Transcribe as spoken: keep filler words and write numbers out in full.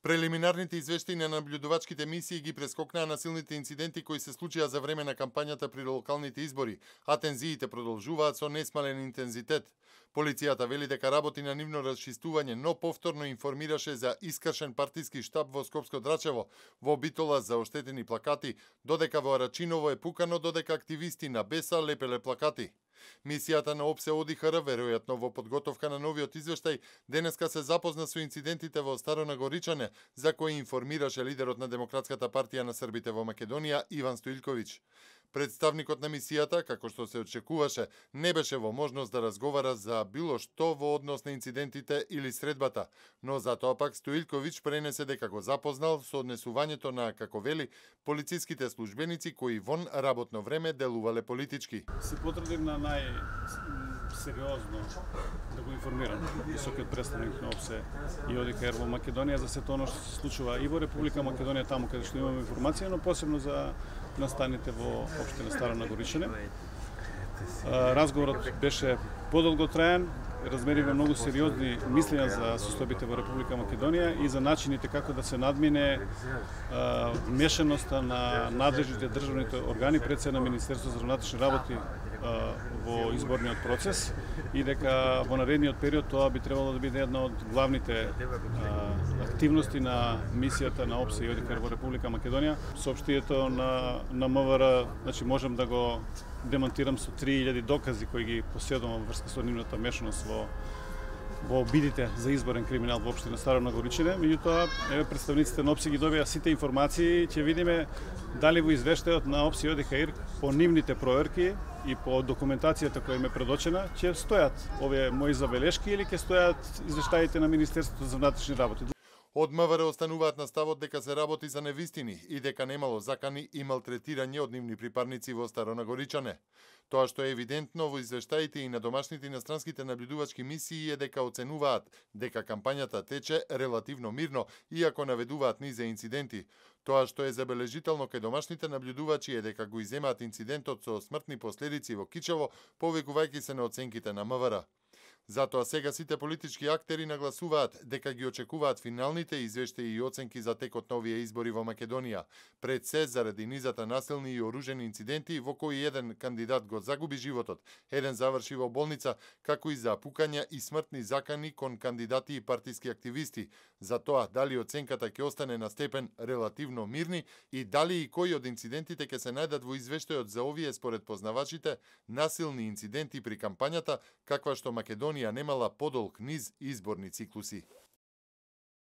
Прелиминарните извештаи на наблюдувачките мисии ги прескокнаа насилните инциденти кои се случија за време на кампањата при локалните избори, а тензиите продолжуваат со несмален интензитет. Полицијата вели дека работи на нивно расчистување, но повторно информираше за искршен партиски штаб во Скопско Драчево, во Битола за оштетени плакати, додека во Арачиново е пукано додека активисти на Беса лепеле плакати. Мисијата на ОПСЕ ОДИХР, веројатно во подготовка на новиот извештај, денеска се запозна со инцидентите во Старонагоричане, за кои информираше лидерот на Демократската партија на Србите во Македонија, Иван Стоилковиќ. Представникот на мисијата, како што се очекуваше, не беше во можност да разговара за било што во однос на инцидентите или средбата, но затоа пак Стоилковиќ пренесе дека го запознал со однесувањето на, како вели, полициските службеници кои вон работно време делувале политички. Се потрудив на најсериозно да го информирам високиот представник на ОПСЕ и ОДИХР во Македонија за сето оно што се случува и во Република Македонија, таму каде што имаме информација, но посебно за настаните во општина Старонагоричане. Разговорот беше подолготраен, размеривме многу сериозни мислења за состојбите во Република Македонија и за начините како да се надмине а, мешаноста на надлежните државните органи, пред се на Министерството за внатрешни работи а, во изборниот процес и дека во наредниот период тоа би требало да биде една од главните а, активности на мисијата на ОПСЕ и ОДИХР во Република Македонија. Соопштието на, на МВР, значи можам да го демонтирам со три илјади докази кои ги поседувам во врска со нивната мешаност во во обидите за изборен криминал во општина Старонагоричане. Меѓутоа, еве представниците на ОПСЕ ги добија сите информации, ќе видиме дали во извештајот на ОПСЕ и ОДИХР по нивните проверки и по документацијата која им е предочена, ќе стојат овие мои забелешки или ќе стојат извештаите на Министерството за внатрешни работи. Од МВР остануваат на ставот дека се работи за невистини и дека немало закани и малтретирање од нивни припарници во Старонагоричане. Тоа што е евидентно во извештаите и на домашните и иностранските наблюдувачки мисии е дека оценуваат дека кампањата тече релативно мирно, иако наведуваат низ инциденти. Тоа што е забележително кај домашните наблюдувачи е дека го иземаат инцидентот со смртни последици во Кичево, повикувајќи се на оценките на МВР. Затоа сега сите политички актери нагласуваат дека ги очекуваат финалните извештаи и оценки за текот на овие избори во Македонија, пред се заради низата насилни и оружени инциденти во кои еден кандидат го загуби животот, еден заврши во болница, како и за пукања и смртни закани кон кандидати и партиски активисти, за тоа дали оценката ќе остане на степен релативно мирни и дали и кои од инцидентите ќе се најдат во извештајот за овие, според познавачите, насилни инциденти при кампањата, каква што Македонија немала подолг низ изборни циклуси.